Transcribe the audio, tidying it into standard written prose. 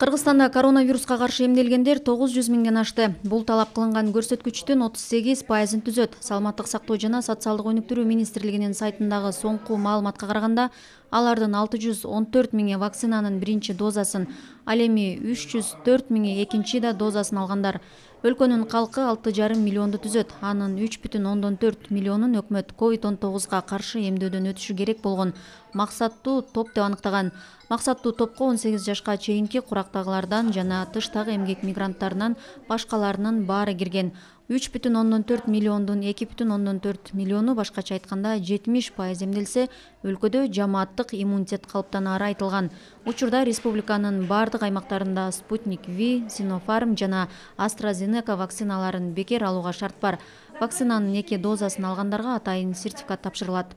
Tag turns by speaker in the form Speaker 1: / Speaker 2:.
Speaker 1: Кыргызстанда коронавируска каршы эмделгендер 900 миңден ашты. Бул талап кылынган көрсөткүчтүн 38%-ын түзөт. Саламаттык сактоо жана социалдык өнүктүрүү министрлигинин сайтындагы соңку маалыматка караганда, алардын 614 миңи вакцинанын биринчи дозасын, ал эми 304 миңи экинчи дозасын алгандар. Өлкөнүн калкы 6,5 миллионду түзөт. Анын 3,4 миллионун өкмөт COVID-19 каршы эмдөөдөн өтүшү керек болгон максаттуу топ деп аныктаган. Максаттуу топко 18 жашка чейинки курактагылардан жана тыштагы эмгек мигранттарынан башкаларынын баары кирген. 3,4 миллиондун 2,4 миллиону, башкача айтканда 70% эмделсе, өлкөдө жамааттык иммунитет калыптанары айтылган. Учурда республиканын бардык аймактарында Спутник V, Sinopharm жана AstraZeneca вакциналарын бекер алууга шарт бар. Вакцинанын 2 дозасын алгандарга атайын сертификат тапшырылат.